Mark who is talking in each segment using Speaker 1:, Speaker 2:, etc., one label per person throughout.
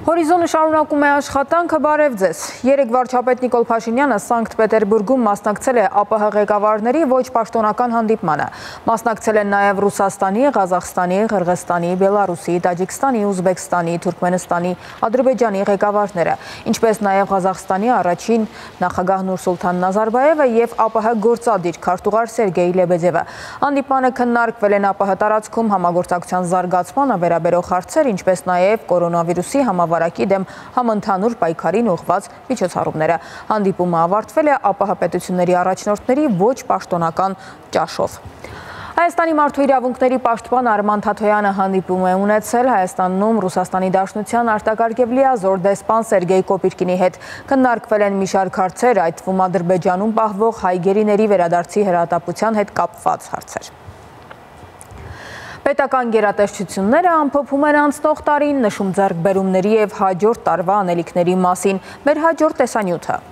Speaker 1: Հորիզոնը շարունակում է աշխատանքը, բարև ձեզ։ Երեկ վարչապետ Նիկոլ Փաշինյանը Սանկտ Պետերբուրգում մասնակցել է ԱՊՀ ղեկավարների ոչ պաշտոնական հանդիպմանը։ Մասնակցել են նաև Ռուսաստանի, Ղազախստանի, Ղրղստանի, Բելարուսի, Տաջիկստանի, Ուզբեկստանի, Թուրքմենստանի, Ադրբեջանի ղեկավարները, ինչպես նաև Ղազախստանի առաջին նախագահ Նուրսուլթան Նազարբաևը և ԱՊՀ գործադիր քարտուղար Սերգեյ Լեբեդևը։ Հանդիպմանը քննարկվել են ԱՊՀ տարածքում համագործակցության զարգացմանը վերաբերող հարցեր, ինչպես նաև կորոնավիրուսի համավարակի դեմ համընդհանուր պայքարին ուղղված միջոցառումները։ Հանդիպումը ավարտվել է ԱՊՀ պետությունների առաջնորդների ոչ պաշտոնական ճաշով։ Հայաստանի մարդու իրավունքների պաշտպան Արման Թաթոյանը հանդիպում է ունեցել Հայաստանում Ռուսաստանի Դաշնության արտակարգ և լիազոր դեսպան Սերգեյ Կոպիրկինի հետ։ Քննարկվել են մի շարք հարցեր, այդ թվում Ադրբեջանում պահվող հայ գերիների վերադարձի հրատապության հետ կապված հարցեր։ Պետական գերատեսչությունները ամփոփում են անցնող տարին, նշում ձեռքբերումների և հաջորդ տարվա անելիքների մասին։ Մեր հաջորդ տեսանյութը։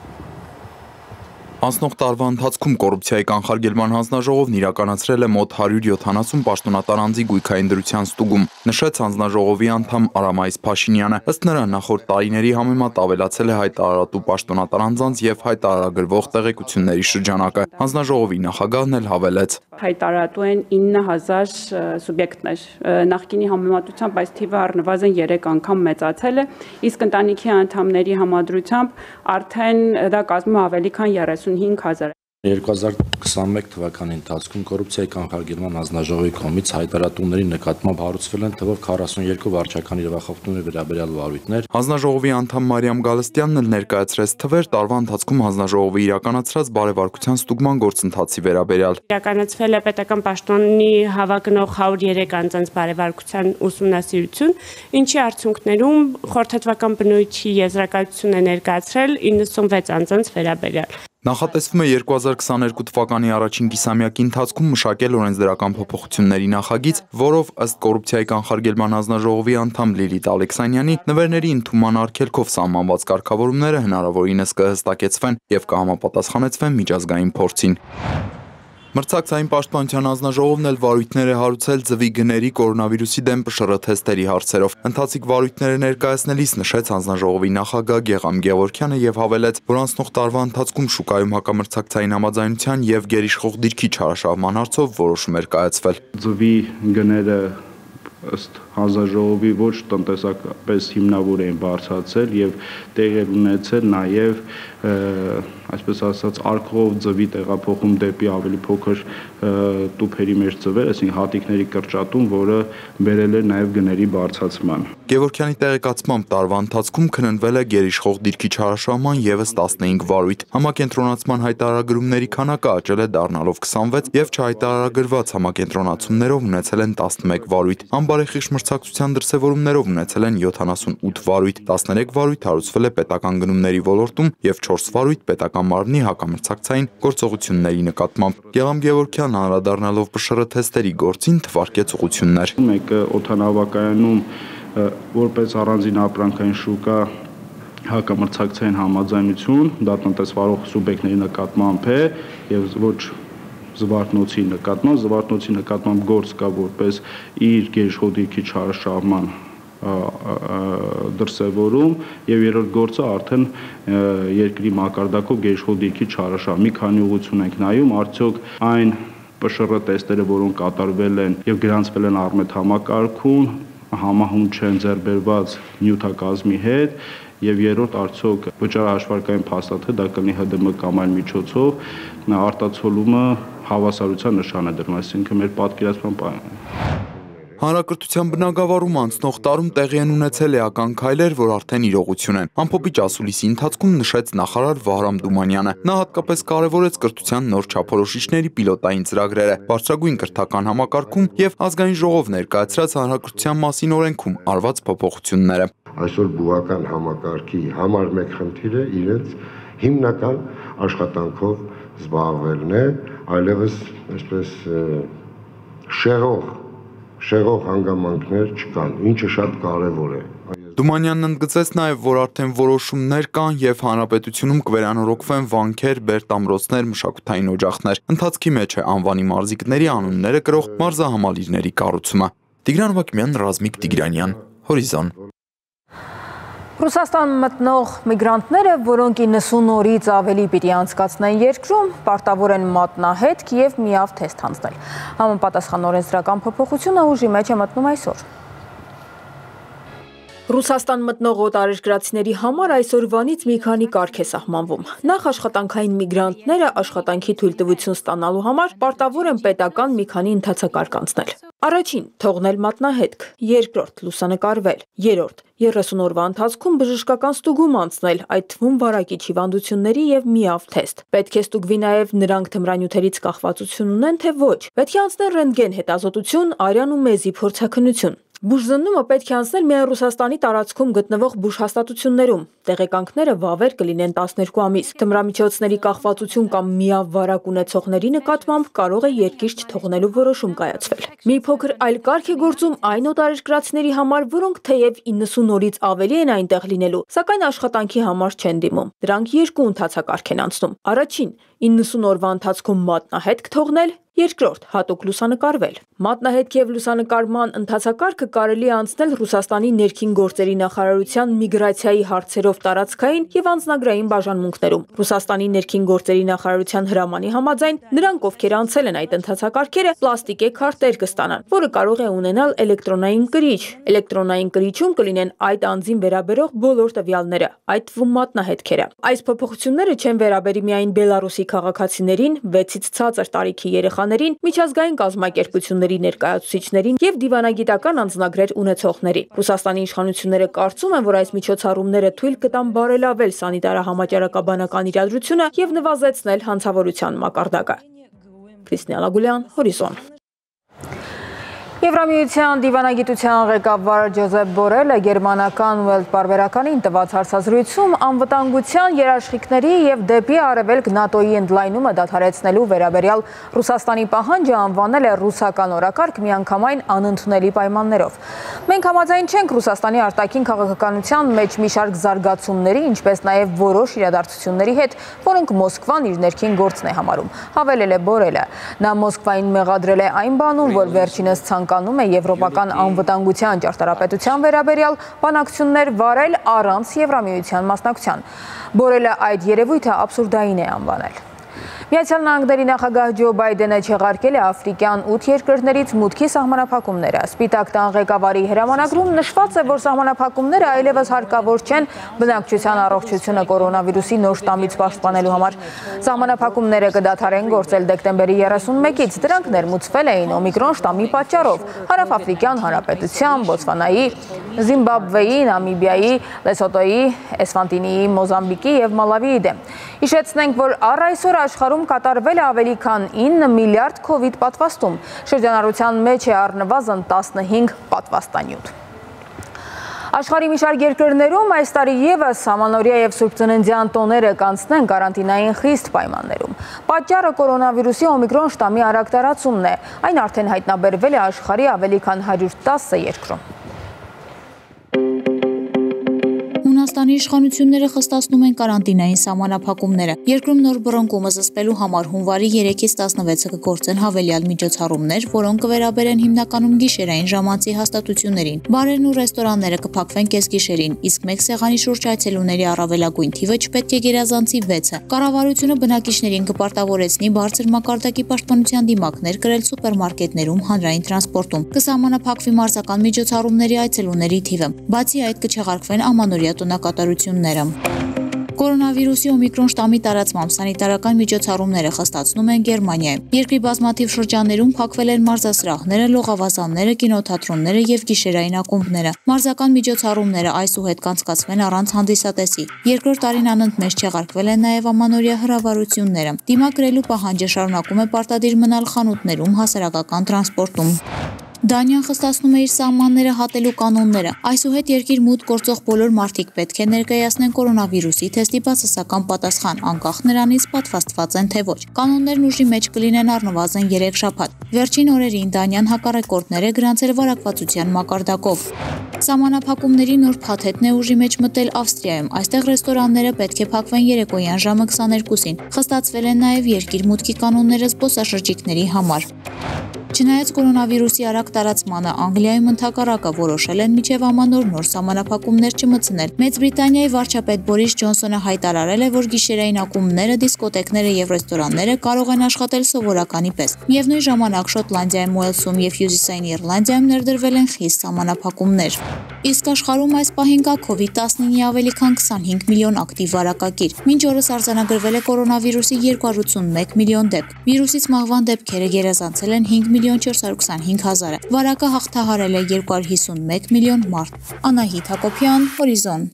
Speaker 2: Անցնող տարվա ընթացքում կոռուպցիայի կանխարգելման հանձնաժողովն իրականացրել է մոտ 170 պաշտոնատար անձի գույքային դրության ստուգում, նշեց հանձնաժողովի անդամ Արամայիս Փաշինյանը։ Ըստ նրա, նախորդ տարիների համեմատ ավելացել է հայտարարատու պաշտոնատար անձանց և հայտարարագրվող տեղեկությունների շրջանակը։ Հանձնաժողովի նախագահն էլ հավելեց.
Speaker 3: Հայտարարատու են 9000 սուբյեկտներ։ Նախկինի համեմատությամբ այս թիվը առնվազն 3 անգամ մեծացել է, իսկ ընտանիքի անդամների համադրությամբ արդեն դա կազմում է ավելի քան 35,000։
Speaker 4: 2021 թվականի ընթացքում կոռուպցիայի կանխարգելման հանձնաժողովի կողմից հայտարարատուների նկատմամբ հարուցվել են թվով 42 վարչական իրավախախտումների վերաբերյալ վարույթներ։
Speaker 2: Հանձնաժողովի անդամ Մարիամ Գալստյանն էլ ներկայացրեց թվեր տարվա ընթացքում հանձնաժողովի իրականացրած բարեվարկության ստուգման գործընթացի վերաբերյալ։
Speaker 5: Իրականացվել է պետական պաշտոնի հավակնող 103 անձանց բարեվարկության ուսումնասիրություն, ինչի արդյունքներում խորհրդատվական բնույթի եզրակացություն է ներկայացրել 96 անձանց վերաբերյալ։
Speaker 2: Նախատեսվում է 2022 թվականի առաջին կիսամյակի ընթացքում մշակել օրենսդրական փոփոխությունների նախագիծ, որով ըստ կոռուպցիայի կանխարգելման հանձնաժողովի անդամ Լիլիթ Ալեքսանյանի նվերների ընդունման արգելքով սահմանված կարգավորումները հնարավորինս կհստակեցվեն և կհամապատասխանեցվեն միջազգային փորձին։ Մրցակցային պաշտպանության հանձնաժողովն էլ վարույթներ է հարուցել ձվի գների կորոնավիրուսի դեմ ՊՇՌ թեստերի հարցերով։ Ընթացիկ վարույթները ներկայացնելիս նշեց հանձնաժողովի նախագահ Գեգամ Գևորգյանը և հավելեց, որ անցնող տարվա ընթացքում շուկայում հակամրցակցային համաձայնության և գերիշխող դիրքի չարաշահման հարցով որոշում էր կայացվել։
Speaker 6: Ձվի գները ըստ հանձնաժողովի ոչ տնտեսապես հիմնավոր էին բարձրացել և տեղի ունեցել նաև այսպես ասած արկղով ձվի տեղափոխում դեպի ավելի փոքր տուփերի մեջ ձվեր, այսինքն հատիկների կրճատում, որը բերել էր նաև գների բարձրացման։
Speaker 2: Գևորգյանի տեղեկացմամբ տարվա ընթացքում քննվել է գերիշխող դիրքի չարաշահման ևս 15 վարույթ։ Համակենտրոնացման հայտարարագրումների քանակը աճել է դառնալով 26 և չհայտարարագրված համակենտրոնացումներով ունեցել են 11 վարույթ։ Անբարեխիղճ մրցակցության դրսևորումներով ունեցել են 78 վարույթ, 13 վարույթ հարուցվել է պետական գնումների ոլորտում և 4 վարույթ պետական մարմնի հակամրցակցային գործողությունների նկատմամբ։ Գեգամ Գևորգյանն անդրադառնալով ՊՇՌ թեստերի գործին թվարկեց ուղղություններ։
Speaker 6: Մեկը օդանավակայանում որպես առանձին ապրանքային շուկա հակամրցակցային համաձայնություն, դա տնտեսվարող սուբյեկտների նկատմամբ է և ոչ զվարթնոցի նկատմամբ գործ կա որպես իր գերիշխող դիրքի չարաշահման դրսևորում և երրորդ գործը արդեն երկրի մակարդակով գերիշխող դիրքի չարաշահում։ Մի քանի ուղղություն ենք նայում, արդյոք այն ՊՇՌ տեստերը, որոնք կատարվել են և գրանցվել են Առմետ համակարգում, համահունչ չեն ձեռքբերված նյութակազմի հետ, և երրորդ արդյոք վճարահաշվարկային փաստաթղթ, դա կլինի ՀԴՄ կամ այլ միջոցով արտացոլումը հավասարության նշան է դրում, այսինքն մեր պատկերացման
Speaker 2: Հանրակրթության բնագավառում անցնող տարում տեղի են ունեցել էական քայլեր, որ արդեն իրողություն են։ Ամփոփիչ ասուլիսի ընթացքում նշեց նախարար Վահրամ Դումանյանը։ Նա հատկապես կարևորեց կրթության նոր չափորոշիչների պիլոտային ծրագրերը, բարձրագույն կրթական համակարգում և ազգային ժողով ներկայացրած հանրակրթության մասին օրենքում արված փոփոխությունները։
Speaker 7: Այսօր բուհական համակարգի համար մեկ խնդիրը իրենց հիմնական աշխատանքով զբաղվելն է, այլևս այսպես շեղող հանգամանքներ չկան, ինչը շատ կարևոր է։
Speaker 2: Դումանյանն ընդգծեց նաև, որ արդեն որոշումներ կան և հանրապետությունում կվերանորոգվեն վանքեր, բերտամրոցներ, մշակութային օջախներ։ Ընթացքի մեջ է անվանի մարզիկների անունները կրող մարզահամալիրների կառուցումը։ Տիգրան Վակիմյան, Ռազմիկ Տիգրանյան, Հորիզոն։
Speaker 1: Ռուսաստան մտնող միգրանտները, որոնք 90 օրից ավելի պիտի անցկացնեն երկրում, պարտավոր են մատնահետք եւ միավ թեստ հանձնել։ Համապատասխան օրենսդրական փոփոխությունը ուժի մեջ է մտնում այսօր։ Ռուսաստան մտնող օտարերկրացիների համար այսօրվանից մի քանի կարգ է սահմանվում։ Նախ աշխատանքային միգրանտները աշխատանքի թույլտվություն ստանալու համար պարտավոր են պետական մի քանի ընթացակարգ անցնել։ Առաջին՝ թողնել մատնահետք, երկրորդ՝ լուսանկարվել, երրորդ՝ 30 օրվա ընթացքում բժշկական ստուգում անցնել, այդ թվում վարակիչ հիվանդությունների եւ միավ թեստ։ Պետք է ստուգվի նաեւ նրանք թմրանյութերից կախվածություն ունեն, թե ոչ։ Պետք է անցնել ռենտգեն հետազոտություն, արյան ու մեզի փորձաքննություն։ Բուժզննումը պետք է անցնել միայն Ռուսաստանի տարածքում գտնվող բուժհաստատություններում։ Տեղեկանքները վավեր կլինեն 12 ամիս։ Թմրամիջոցների կախվածություն կամ միավ վարակ ունեցողների նկատմամբ կարող է երկիր չթողնելու որոշում կայացվել։ Մի փոքր այլ կարգ է գործում այն օտարերկրացիների համար, որոնք թեև 90 օրից ավելի են այնտեղ լինելու, սակայն աշխատանքի համար չեն դիմում։ Դրանք երկու ընթացակարգ են անցնում։ Առաջին՝ 90 օրվա ընթացքում մատնահետք թողնել, երկրորդ՝ հատուկ լուսանկարվել։ Մատնահետք եւ լուսանկարման ընթացակարգը կարելի է անցնել Ռուսաստանի ներքին գործերի նախարարության միգրացիայի հարցերով տարածքային եւ անձնագրային բաժանմունքներում։ Ռուսաստանի ներքին գործերի նախարարության հրամանի համաձայն նրանք, ովքեր անցել են այդ ընթացակարգերը, պլաստիկե քարտեր կստանան, որը կարող է ունենալ էլեկտրոնային կրիչ։ Էլեկտրոնային կրիչում կլինեն այդ անձին վերաբերող բոլոր տվյալները, այդ թվում մատնահետքերը։ Այս փոփոխությունները չեն վերաբերի միայն Բելարուսի քաղաքացիներին, 6-ից ցածր տարիքի երեխաներին, միջազգային կազմակերպությունների ներկայացուցիչներին եւ դիվանագիտական անձնագրեր ունեցողներին։ Ռուսաստանի իշխանությունները կարծում են, որ այս միջոցառումները թույլ կտան բարելավել սանիտարահամաճարակաբանական իրադրությունը եւ նվազեցնել հանցավորության մակարդակը։ Քրիստինա Լագուլյան, Հորիզոն։ Եվրամիության դիվանագիտության ղեկավար Ջոզեփ Բորելը գերմանական Welt պարբերականին տված հարցազրույցում անվտանգության երաշխիքների եւ դեպի արևելք ՆԱՏՕ-ի ընդլայնումը դադարեցնելու վերաբերյալ Ռուսաստանի պահանջը անվանել է ռուսական օրակարգ միանգամայն անընդունելի պայմաններով։ Մենք համաձայն չենք Ռուսաստանի արտաքին քաղաքականության մեջ մի շարք զարգացումների, ինչպես նաեւ որոշ իրադարձությունների հետ, որոնք Մոսկվան իր ներքին գործն է համարում, հավելել է Բորելը։ Նա Մոսկվային մեղադրել է այն բանում, որ վերջինս ցանկանում է եվրոպական անվտանգության ճարտարապետության վերաբերյալ բանակցություններ վարել առանց Եվրամիության մասնակցության։ Բորելը այդ երևույթը աբսուրդային է անվանել։ Միացյալ Նահանգների նախագահ Ջո Բայդենը չեղարկել է աֆրիկյան 8 երկրներից մուտքի սահմանափակումները։ Սպիտակ տան ղեկավարի հրամանագրում նշված է, որ սահմանափակումները այլևս հարկավոր չեն բնակչության առողջությունը կորոնավիրուսի նոր շտամից պաշտպանելու համար։ Սահմանափակումները կդադարեն գործել դեկտեմբերի 31-ից։ Դրանք ներմուծվել էին օմիկրոն շտամի պատճառով Հարավաֆրիկյան Հանրապետության, Բոտսվանայի, Զիմբաբվեի, Նամիբիայի, Լեսոտոյի, Էսվանտինիի, Մոզամբիկի եւ Մալավիի դեմ։ Հիշեցնենք, որ առ այսօր աշխարհում կատարվել է ավելի քան 9 միլիարդ COVID պատվաստում։ Շրջանառության մեջ է առնվազն 15 պատվաստանյութ։ Աշխարհի մի շարք երկրներում այս տարի եւս ամանորյա եւ Սուրբ Ծննդյան տոները կանցնեն կարանտինային խիստ պայմաններում։ Պատճառը կորոնավիրուսի օմիկրոն շտամի արագ տարածումն է։ Այն արդեն հայտնաբերվել է աշխարհի ավելի քան 110 երկրում։
Speaker 8: Հունաստանի իշխանությունները խստացնում են կարանտինային սահմանափակումները։ Երկրում նոր բռնկումը զսպելու համար հունվարի 3-ից 16-ը կգործեն հավելյալ միջոցառումներ, որոնք կվերաբերեն հիմնականում գիշերային ժամանցի հաստատություններին։ Բարերն ու ռեստորանները կփակվեն կեսգիշերին, իսկ մեկ սեղանի շուրջ այցելուների առավելագույն թիվը չպետք է գերազանցի 6-ը։ Կառավարությունը բնակիչներին կպարտավորեցնի բարձր մակարդակի պաշտպանության դիմակներ կրել սուպերմարկետներում, հանրային տրանսպորտում։ Կսահմանափակվի մարզական միջոցառումների այցելուների թիվը։ Բացի այդ կչեղարկվեն ամանորյա տոնակատարությունները։ Կորոնավիրուսի օմիկրոն շտամի տարածմամբ սանիտարական միջոցառումները խստացնում են Գերմանիայում։ Երկրի բազմաթիվ շրջաններում փակվել են մարզասրահները, լողավազանները, կինոթատրոնները եւ գիշերային ակումբները։ Մարզական միջոցառումները այսուհետ կանցկացվեն առանց հանդիսատեսի։ Երկրորդ տարին անընդմեջ չեղարկվել են նաեւ ամանորյա հրավառությունները։ Դիմակ գրելու պահանջը շարունակում է պարտադիր մնալ խանութներում, հասարակական տրանսպորտում։ Դանիան խստացնում է իր սահմանները հատելու կանոնները։ Այսուհետ երկիր մուտք գործող բոլոր մարդիկ պետք է ներկայացնեն կորոնավիրուսի թեստի բացասական պատասխան, անկախ նրանից պատվաստված են թե ոչ։ Կանոններն ուժի մեջ կլինեն առնվազն 3 շաբաթ։ Վերջին օրերին Դանիան հակառեկորդներ է գրանցել վարակվածության մակարդակով։ Սահմանափակումների նոր փաթեթն է ուժի մեջ մտել Ավստրիայում։ Այստեղ ռեստորանները պետք է փակվեն երեկոյան ժամը 22-ին։ Խստացվել են նաև երկիր մուտքի կանոնները զբոսաշրջիկների համար։ Չնայած կորոնավիրուսի արագ տարածմանը Անգլիայում ընդհակառակը որոշել են մինչև ամանոր նոր սահմանափակումներ չմտցնել։ Մեծ Բրիտանիայի վարչապետ Բորիս Ջոնսոնը հայտարարել է, որ գիշերային ակումբները, դիսկոտեկները եւ ռեստորանները կարող են աշխատել սովորականի պես։ Միևնույն ժամանակ Շոտլանդիայում, Ուելսում եւ Հյուսիսային Իռլանդիայում ներդրվել են խիստ սահմանափակումներ։ Իսկ աշխարհում այս պահին կա COVID-19-ի ավելի քան 25 միլիոն ակտիվ վարակագիր։ Մինչ օրս արձանագրվել է կորոնավիրուսի 281 միլիոն դեպք։ Վիրուսից մահվան դեպքերը գերազանցել են 5.425.000-ը։ Վարակը հաղթահարել է 251 միլիոն մարդ։ Անահիտ Հակոբյան, Հորիզոն։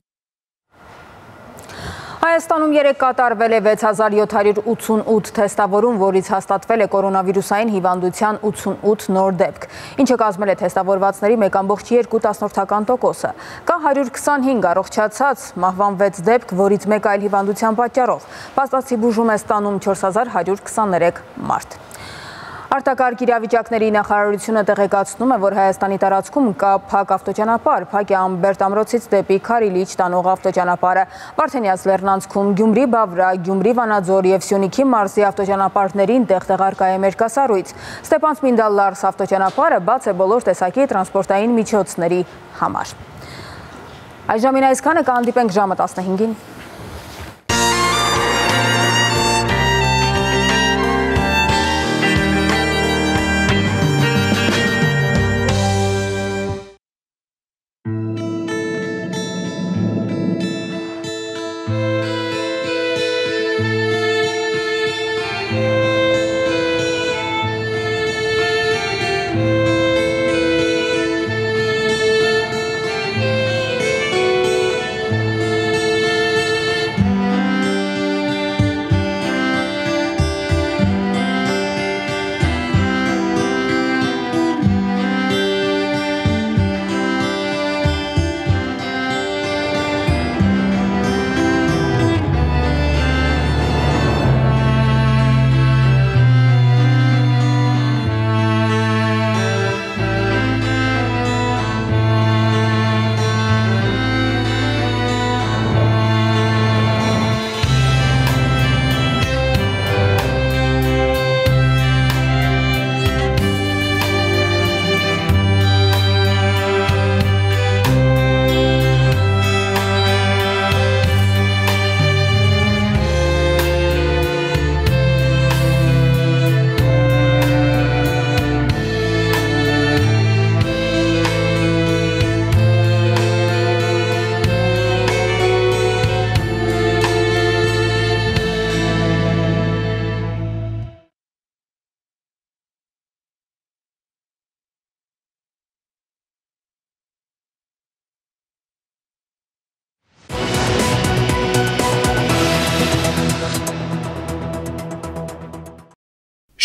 Speaker 1: Հայաստանում երեկ կատարվել է 6788 թեստավորում, որից հաստատվել է կորոնավիրուսային հիվանդության 88 նոր դեպք, ինչը կազմել է թեստավորվածների 1.2%-ը։ Կա 125 առողջացած, մահվան 6 դեպք, որից մեկ այլ հիվանդության պատճառով։ Փաստացի բուժում է ստանում 4123 մարդ։ Արտակարգ իրավիճակների նախարարությունը տեղեկացնում է, որ Հայաստանի տարածքում կա փակ ավտոճանապարհ, փակ է Ամբերտ ամրոցից դեպի Քարիլիչ տանող ավտոճանապարհը, Վարդենյաց լեռնանցքում Գյումրի Բավրա, Գյումրի Վանաձոր եւ Սյունիքի մարզի ավտոճանապարհներին տեղտեղարկա է մերկասառույց։ Ստեփան-Ցմինդալ Լարս ավտոճանապարհը բաց է բոլոր տեսակի տրանսպորտային միջոցների համար։ Այժմին այսքանը, կհանդիպենք ժամը 15-ին։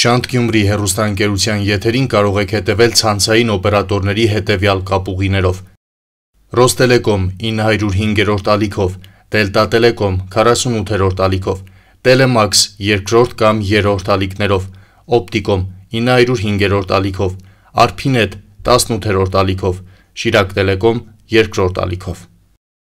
Speaker 9: Շանթ Գյումրի հեռուստաընկերության եթերին կարող եք հետևել ցանցային օպերատորների հետևյալ կապուղիներով. Ռոստելեկոմ 905-րդ ալիքով, Դելտա Տելեկոմ 48-րդ ալիքով, Տելեմաքս 2-րդ կամ 3-րդ ալիքներով, Օպտիկոմ 905-րդ ալիքով, Արփինետ 18-րդ ալիքով, Շիրակ Տելեկոմ 2-րդ ալիքով։